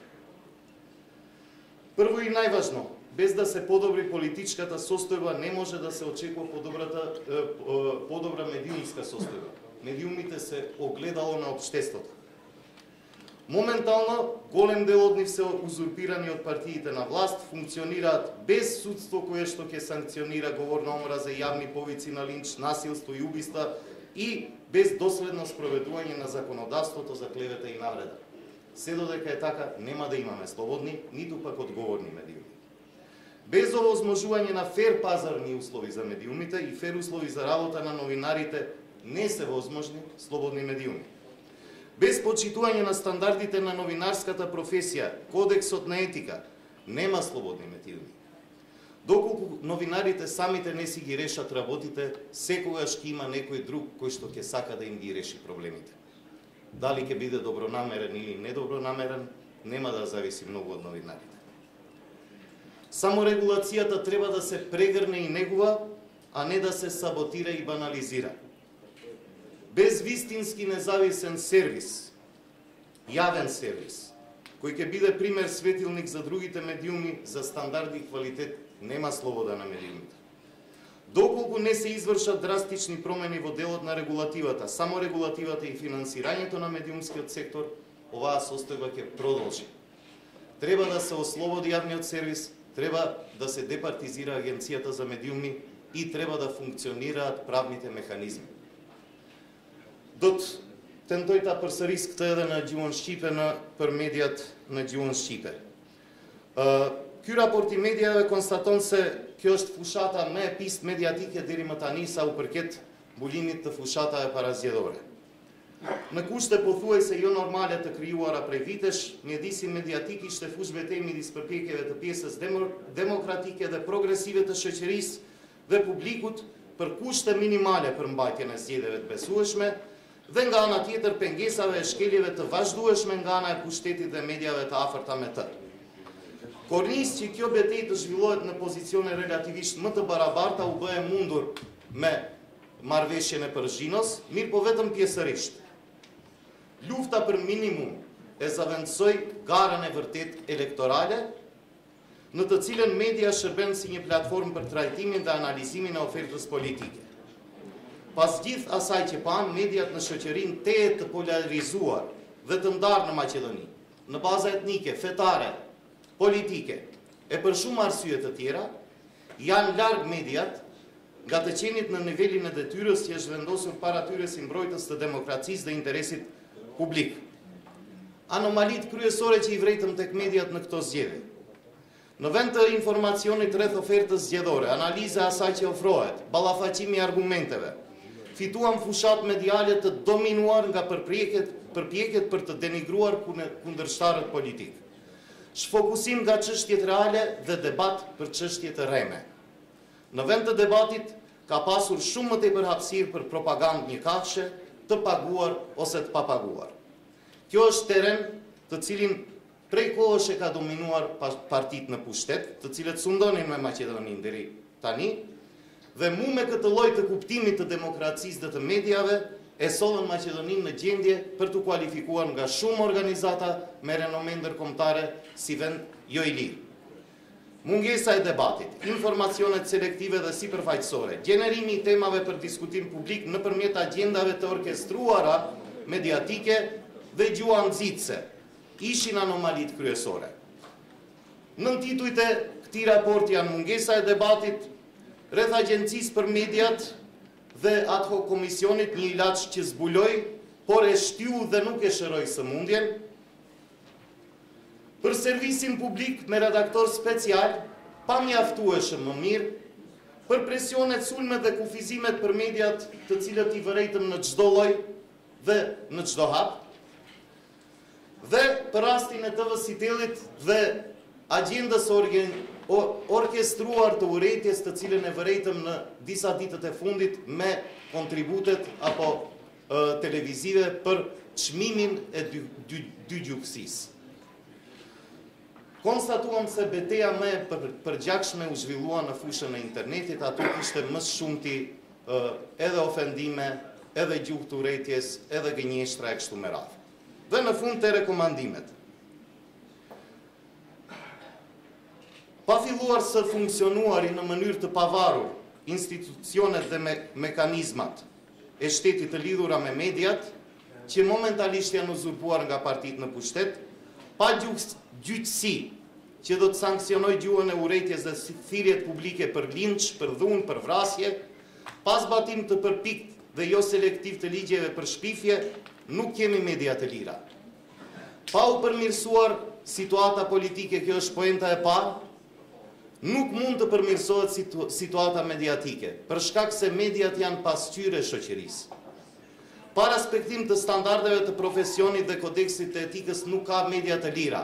Прво и најважно, без да се подобри политичката состојба, не може да се очекува подобра медиумска состојба. Медиумите се огледало на општеството. Моментално, голем дел од нив се узурпирани од партиите на власт, функционираат без судство кое што ќе санкционира говор на омраза и јавни повици на линч, насилство и убиства и без доследно спроведување на законодавството за клевета и навреда. Се додека е така, нема да имаме слободни, ниту пак одговорни медиуми. Без овозможување на фер пазарни услови за медиумите и фер услови за работа на новинарите, не се возможни слободни медиуми. Без почитување на стандардите на новинарската професија, кодексот на етика, нема слободни медиуми. Доколку новинарите самите не си ги решат работите, секогаш ќе има некој друг кој што ќе сака да им ги реши проблемите. Дали ќе биде добронамерен или недобронамерен, нема да зависи многу од новинарите. Саморегулацијата треба да се прегрне и негува, а не да се саботира и банализира. Без вистински независен сервис, јавен сервис, кој ќе биде пример светилник за другите медиуми за стандарди и квалитет, нема слобода на медиумите. Доколку не се извршат драстични промени во делот на регулативата, само регулативата и финансирањето на медиумскиот сектор, оваа состојба ќе продолжи. Треба да се ослободи јавниот сервис, треба да се департизира Агенцијата за медиуми и треба да функционираат правните механизми. Dot tentojta përsëris këtë edhe në gjuhën shqipe për mediat në gjuhën shqipe. Ky raport I mediave konstaton se kjo është fushata më e pistë mediatike deri më tani sa u përket mbulimit të fushatave parazgjedhore. Në kushte pothuajse jo normale të krijuara prej vitesh, mjedisi mediatik ishte fush betejë midis përpjekjeve të pjesës demokratike dhe progresive të shoqërisë dhe publikut për kushte minimale për mbajtjen e zgjedhjeve të besueshme dhe nga ana tjetër pengesave e shkeljeve të vazhdueshme nga ana e pushtetit dhe mediave të afërta me të. Kornisë që kjo betejë të zhvillohet në pozicione relativisht më të barabarta u bë e mundur me marrëveshjen e Përzhinos, mirë po vetëm pjesërisht. Lufta për minimum e zavendësoi garën e vërtet elektorale, në të cilën media shërben si një platformë për trajtimin dhe analizimin e ofertës politike. Pas gjithë asaj që pan, mediat në shoqërinë tejet të polarizuar dhe të ndarë në Maqedoni, në baza etnike, fetare, politike, e për shumë arsye të tjera, janë larg mediat nga të qenit në nivelin e detyrës që është vendosur para tyre si mbrojtës të demokracisë dhe interesit publik. Anomalit kryesore që I vretëm tek mediat në këto zgjedhje. Në vend të informacionit rreth ofertës zgjedhore, analiza asaj që ofrohet, ballafaqimi I argumenteve, fituam fushat mediale të dominuar nga përpjekjet për të denigruar kundërshtarët politik. Shfokusim nga çështjet reale dhe debat për çështje të rreme. Në vend të debatit ka pasur shumë më tepër hapësirë për propagandë njëkafshë, të paguar ose të papaguar. Kjo është teren të cilin prej kohësh e ka dominuar partitë në pushtet, të cilët sundonin me Maqedoninë deri tani, dhe mu me këtë lloj të kuptimit të demokracisë dhe të mediave, e sollën Maqedoninë në gjendje për të kualifikuar nga shumë organizata me renome ndërkombëtare si vend jo I lirë. Mungesa e debatit, informacionet selektive dhe sipërfaqësore, gjenerimi I temave për diskutim publik nëpërmjet agjendave të orkestruara mediatike dhe gjua nxitse, ishin anomalit kryesore. Nën titujt e këtij raporti janë mungesa e debatit rreth agjencisë për mediat dhe ad hoc komisionit, një ilaç që zbuloi, por e shtyu dhe nuk e shëroi sëmundjen, për servisin publik me redaktor special, pa mjaftueshëm më mirë, për presionet, sulmet dhe kufizimet për mediat të cilët I vërejtëm në çdo lloj dhe në çdo hap, dhe për rastin e TV Sitelit dhe agjendës orkestruar të urrëties të cilën e vërejtëm në disa ditët e fundit me kontributet apo televizive për çmimin e dygjuksisë. Konstatuam se beteja më e përgjakshme u zhvillua në fushën e internetit, aty kishte më shumti edhe ofendime, edhe gjuhë të urrëties, edhe gënjeshtra e kështu me radhë. Dhe në fund të rekomandimet. Pa filluar së funksionuari në mënyrë të pavarur institucionet dhe mekanizmat e shtetit të lidhura me mediat, që momentalisht janë uzurpuar nga partitë në pushtet, pa gjyqësi që do të sankcionoj gjuhën e urrëties dhe thirrjet publike për linç, për dhunë, për vrasje, pa zbatim të përpikt dhe jo selektiv të ligjeve për shpifje, nuk kemi media të lira. Pa u përmirësuar situata politike, kjo është poenta e parë, nuk mund të përmirësohet situata mediatike, për shkak se mediat janë pasqyrë e shoqërisë. Pa respektim të standardeve të profesionit dhe kodeksit të etikës nuk ka media të lira.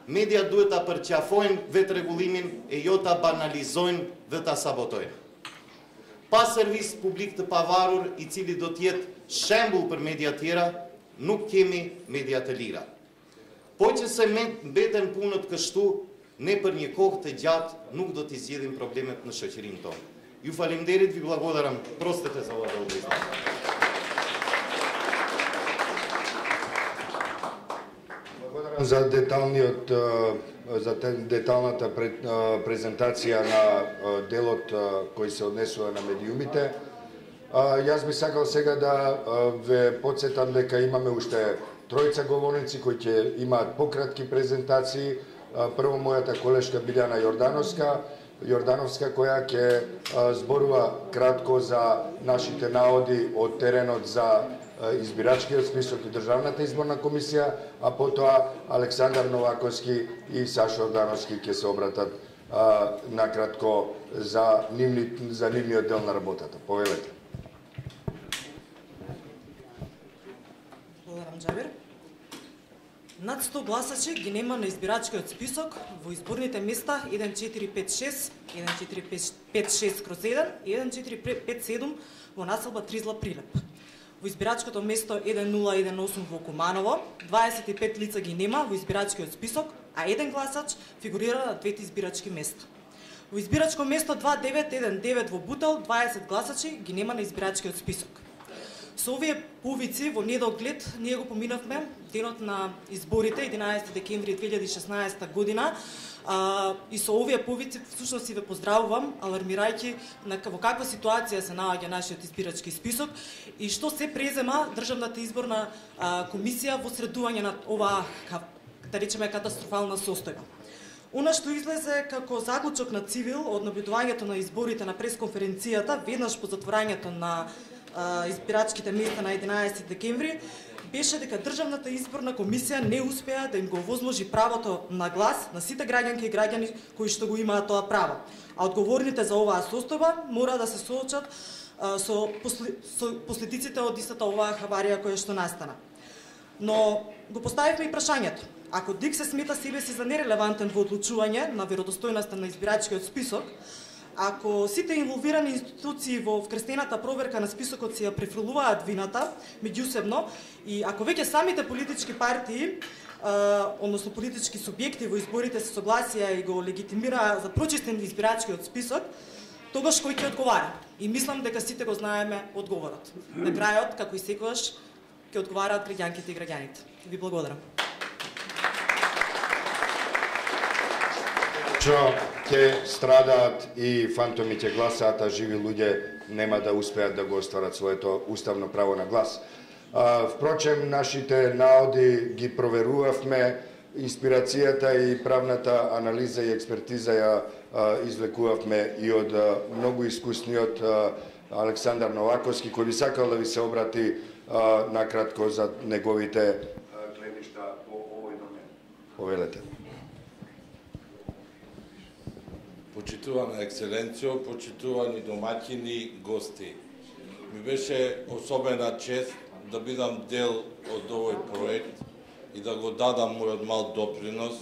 Media duhet ta përqafojnë vetë rregullimin e jo ta banalizojnë dhe ta sabotojnë. Pa servis publik të pavarur I cili do të jetë shembull për media tjera, nuk kemi media të lira. Po që se mbeten punët kështu, ne për një kohë të gjatë nuk do t'i zgjidhim problemet në shoqërinë tonë. Ju faleminderit, vi благодарам. Простете за ова удоволствие. Благодарам. за деталната презентација на делот кој се однесува на медиумите. Јас би сакал сега да ве подсетам дека имаме уште тројца говорници кои ќе имаат пократки презентации. Прво мојата колешка Билјана Јордановска, која ќе зборува кратко за нашите наоди од теренот за избирачкиот список и Државната изборна комисија, а потоа Александар Новаковски и Сашо Јордановски ќе се обратат накратко за нивниот дел на работата. Повелете. Благодарам, Џабир. Над 100 гласачи ги нема на избирачкиот список во изборните места 1456, 1456/1 и 1457 во населба Тризла Прилеп. Во избирачкото место 1018 во Куманово, 25 лица ги нема во избирачкиот список, а еден гласач фигурира на двете избирачки места. Во избирачко место 2919 во Бутел, 20 гласачи ги нема на избирачкиот список. Со овие повици во недоглед ние го поминавме денот на изборите 11 декември 2016 година, и со овие повици всушност си ве поздравувам, алармирајќи во каква ситуација се наоѓа нашиот избирачки список и што се презема Државната изборна комисија во средување на оваа, да речеме, катастрофална состојба. Она што излезе како заклучок на Цивил од наблюдувањето на изборите на пресконференцијата веднаш по затворањето на избирачките места на 11 декември беше дека Државната изборна комисија не успеа да им го овозможи правото на глас на сите граѓанки и граѓани кои што го имаат тоа право. А одговорните за оваа состојба мора да се соочат со последиците од истата оваа хаварија која што настана. Но го поставивме и прашањето. Ако ДИК се смета себе си за нерелевантен во одлучување на веродостојноста на избирачкиот список, ако сите инволвирани институции во вкрстената проверка на списокот си ја префрлуваат вината меѓусебно и ако веќе самите политички партии, односно политички субјекти во изборите се согласија и го легитимираа за прочистен избирачкиот список, тогаш кој ќе одговара? И мислам дека сите го знаеме одговорот. На крајот, како и секогаш, ќе одговараат граѓанките и граѓаните. Ви благодарам. Ќе страдаат и фантоми ќе гласаат, а живи луѓе нема да успеат да го остварат своето уставно право на глас. Впрочем, нашите наоди ги проверувавме, инспирацијата и правната анализа и експертиза ја извлекувавме и од многу искусниот Александар Новаковски, кој би сакал да ви се обрати накратко за неговите гледишта по овој домен. Повелете. Почитувана екселенцијо, почитувани домаќини, гости. Ми беше особена чест да бидам дел од овој проект и да го дадам мојот мал допринос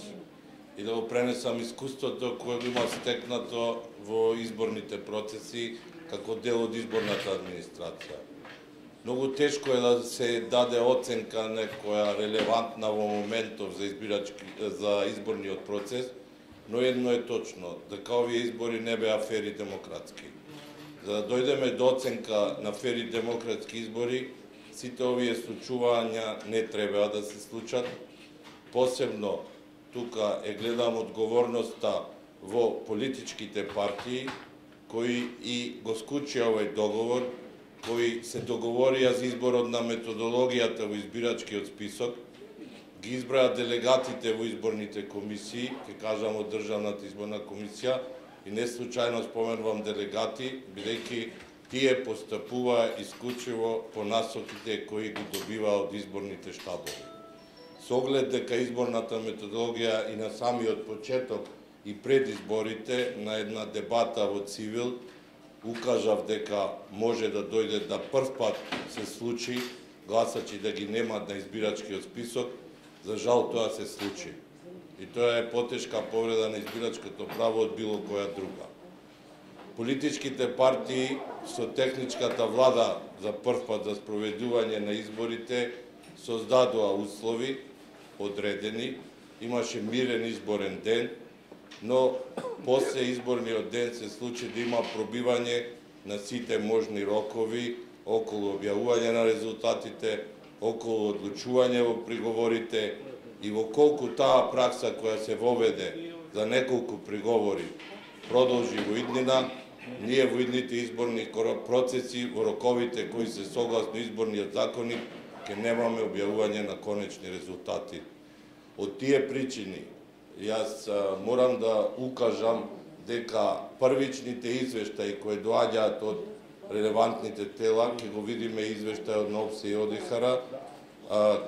и да го пренесам искуството кое го има стекнато во изборните процеси како дел од изборната администрација. Многу тешко е да се даде оценка некоја релевантна во моментов за изборниот процес, но едно е точно, дека овие избори не беа фери демократски. За да дојдеме до оценка на фери демократски избори, сите овие случувања не треба да се случат. Посебно, тука гледам одговорноста во политичките партии, кои и го скучија овој договор, кои се договорија за изборот на методологијата во избирачкиот список, ги избраја делегатите во изборните комисии, ќе кажам од Државната изборна комисија, и не случајно споменувам делегати, бидејќи тие постапуваа исклучиво по насоките кои ги добиваа од изборните штабови. Со оглед дека изборната методологија и на самиот почеток и пред изборите на една дебата во Цивил укажав дека може да дојде да прв пат се случи гласачи да ги немат на избирачкиот список. За жал тоа се случи. И тоа е потешка повреда на избирачкото право од било која друга. Политичките партии со техничката влада за прв пат за спроведување на изборите создадоа услови одредени, имаше мирен изборен ден, но после изборниот ден се случи да има пробивање на сите можни рокови околу објавување на резултатите, околу одлучување во приговорите И во колку таа пракса која се воведе за неколку приговори продолжи во иднина, ние во идните изборни процеси, во роковите кои се согласно изборниот законник, ќе немаме објавување на конечни резултати. Од тие причини, јас морам да укажам дека првичните извештаи кои доаѓаат од релевантните тела, ќе го видиме извештај од НОПС и ОДИХР,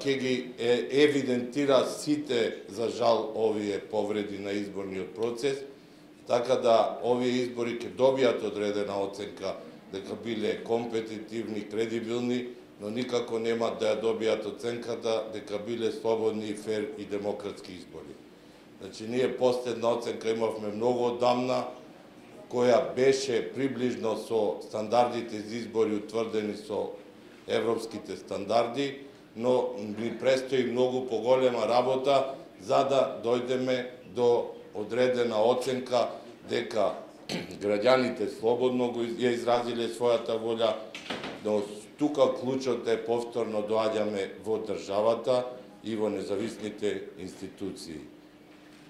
ќе ги евидентира сите, за жал, овие повреди на изборниот процес, така да овие избори ќе добијат одредена оценка дека биле компетитивни, кредибилни, но никако нема да ја добијат оценката дека биле слободни, фер и демократски избори. Значи, ние последна оценка имавме многу одамна, која беше приближно со стандардите за избори утврдени со европските стандарди, но ни престои многу поголема работа за да дојдеме до одредена оценка дека граѓаните слободно ја изразиле својата волја, но тука клучот е повторно доаѓаме во државата и во независните институции.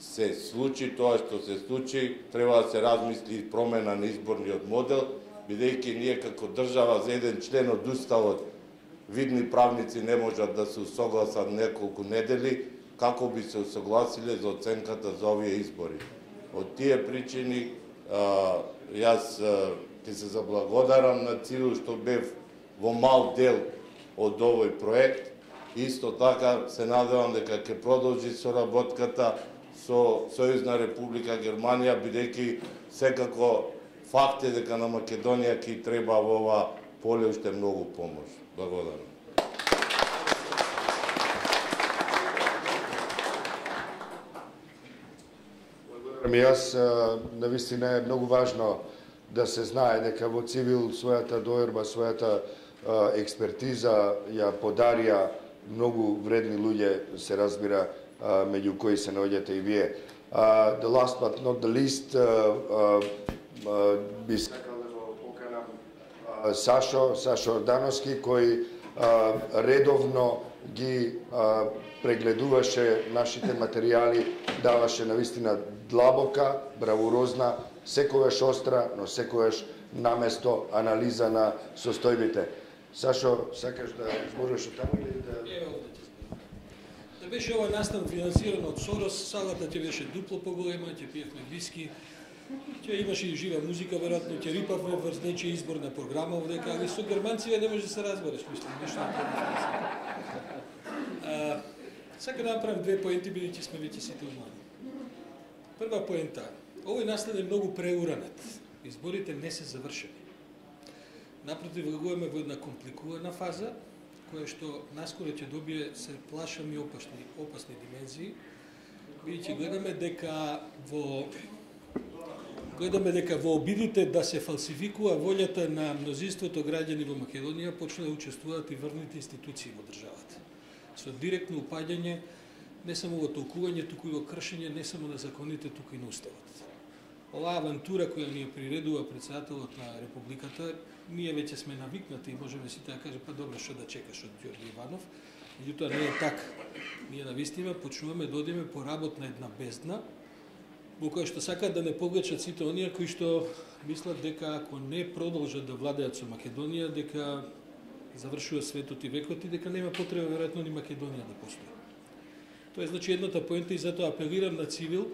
Се случи тоа што се случи, треба да се размисли промена на изборниот модел, бидејќи ние како држава за еден член од уставот видни правници не можат да се усогласат неколку недели, како би се усогласиле за оценката за овие избори. Од тие причини, јас ќе се заблагодарам на Цирил што бев во мал дел од овој проект. Исто така се надевам дека ќе продолжи соработката со Сојузна Република Германија, бидејќи секако факт е дека на Македонија ќе треба во ова поле уште многу помош. Благодарам. Јас, навистина е многу важно да се знае дека во Цивил својата дојорба, својата експертиза ја подарија многу вредни луѓе, се разбира, меѓу кои се наоѓате и вие. The last but not the least, би сакал да го поканам Сашо Ордановски, кој редовно ги прегледуваше нашите материјали, даваше навистина длабока, бравурозна, секогаш остра, но секогаш наместо анализа на состојбите. Сашо, сакаш да зборуваш од таму или да... Да беше ова настан финансиран од Сорос, салата ќе беше дупло поголема, ќе пиевме виски, ќе имаше и жива музика, веројатно ќе рипавме врз нечија изборна програма овдека, али со германците не може да се разбереш, мислам, нешто на тоа. Сака да направам две поенти, бидејќи сме веќе сите уморни. Прва поента, овој настан е многу преуранет. Изборите не се завршени. Напротив, влегуваме во една компликувана фаза, која што наскоро ќе добие се плашам и опасни димензии, бидејќи гледаме дека во обидите да се фалсификува волјата на мнозинството граѓани во Македонија почна да учествуваат и врвните институции во државата. Со директно упаѓање не само во толкување, туку и во кршење не само на законите, туку и на уставот. Оваа авантура која ни ја приредува председателот на Републиката, ние веќе сме навикнати и можеме сите да кажеме, па добро, што да чекаш од Ѓорѓе Иванов, меѓутоа не е така. Ние навистина почнуваме да одиме по работна една бездна, во која што сакаат да не повлечат сите оние кои што мислат дека ако не продолжат да владеат со Македонија, дека завршува светот и векот и дека нема потреба веројатно ни Македонија да постои. Тоа е значи едната поента и затоа апелирам на Цивил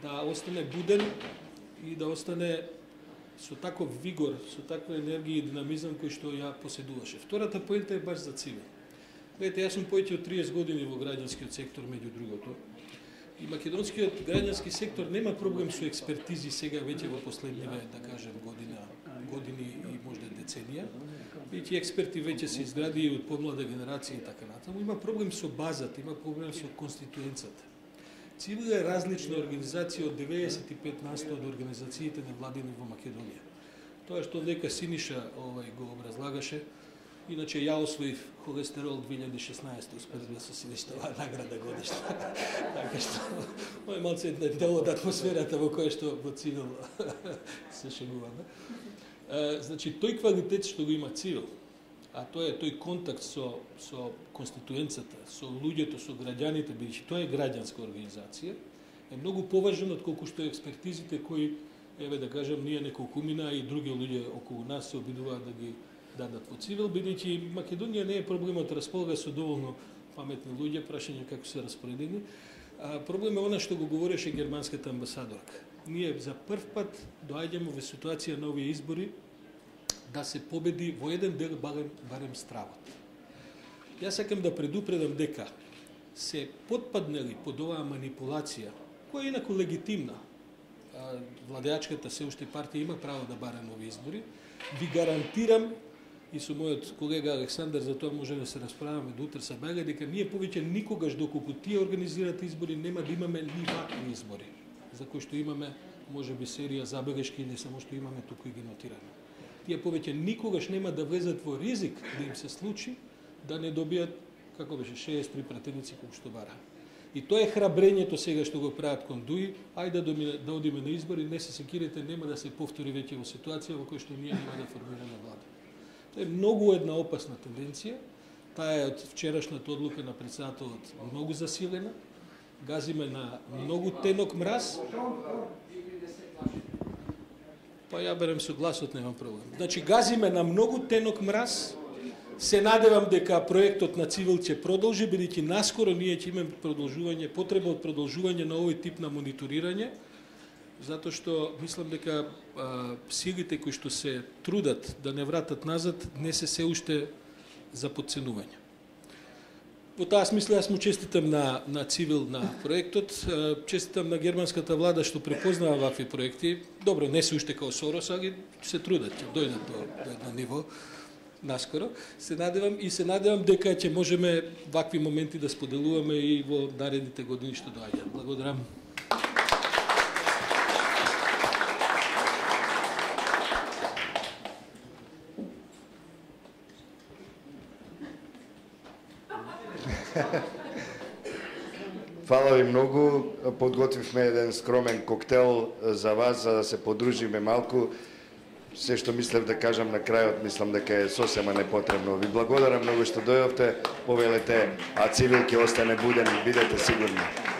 да остане буден и да остане со таков вигор, со таква енергија и динамизам кој што ја поседуваше. Втората поента е баш за Цивил. Гледате, јас сум повеќе од 30 години во граѓанскиот сектор, меѓу другото. И македонскиот граѓански сектор нема проблем со експертизи сега веќе во последниве, да кажем, години и можда деценија. Веќе експерти веќе се изгради од помлада генерација и така натаму. Има проблем со базата, има проблем со конституенцата. Цивил е различна организација од 95% од организациите невладини во Македонија. Тоа што дека Синиша го образлагаше, иначе ја освоив холестерол 2016, успех да се Сиништова награда годишна. Така што, ова е малце дел од атмосферата во која што во Цивил се шегуваме. Значи, тој квалитет што го има Цивил, а тоа е тој контакт со конституенцата, со луѓето, со граѓаните, бидејќи тоа е граѓанска организација, е многу поважен од колку што експертизите кои, еве да кажам, ние неколкумина и други луѓе околу нас се обидуваат да ги дадат во цивил, бидејќи Македонија не е проблемот, располага со доволно паметни луѓе, прашање како се распоредени. Проблем е она што го говореше германската амбасадорка. Ние за прв пат доаѓаме во ситуација на овие избори да се победи во еден дел барем стравот. Јас сакам да предупредам дека се потпаднали под оваа манипулација, која е инаку легитимна. Владеачката се уште партија има право да бара нови избори. Ви гарантирам, и со мојот колега Александар, за тоа може да се расправаме до утре са бега, дека ние повеќе никогаш, доколку тие организираат избори, нема да имаме ни вакви избори, за кои што имаме, може би, серија забелешки, не само што имаме, туку и ги нотираме. Тие повеќе никогаш нема да влезат во ризик да им се случи да не добијат, како беше, 63 пратеници колку што бара. И тоа е храбрењето сега што го прават кон ДУИ, ајде да одиме на избори, не се секирете, нема да се повтори веќе во ситуација во која што ние нема да формираме влада. Тоа е многу една опасна тенденција. Таа е од вчерашната одлука на председателот многу засилена. Газиме на многу тенок мраз. Па ја берем со гласот, немам проблем. Значи, газиме на многу тенок мраз. Се надевам дека проектот на Цивил ќе продолжи, бидејќи наскоро ние ќе имаме продолжување, потреба од продолжување на овој тип на мониторирање, затоа што мислам дека силите кои што се трудат да не вратат назад не се уште за подценување. Во таа смисла јас му честитам на Цивил на проектот, честитам на германската влада што препознава вакви проекти. Добро, не се уште као Сорос, али се трудат, ќе дојдат до едно ниво наскоро. Се надевам дека ќе можеме вакви моменти да споделуваме и во наредните години што доаѓаат. Благодарам. Фала ви многу. Подготвивме еден скромен коктел за вас, за да се подружиме малку. Се што мислев да кажам на крајот, мислам дека е сосема непотребно. Ви благодарам многу што дојдовте, повелете, а Цивил ќе остане буден, бидете сигурни.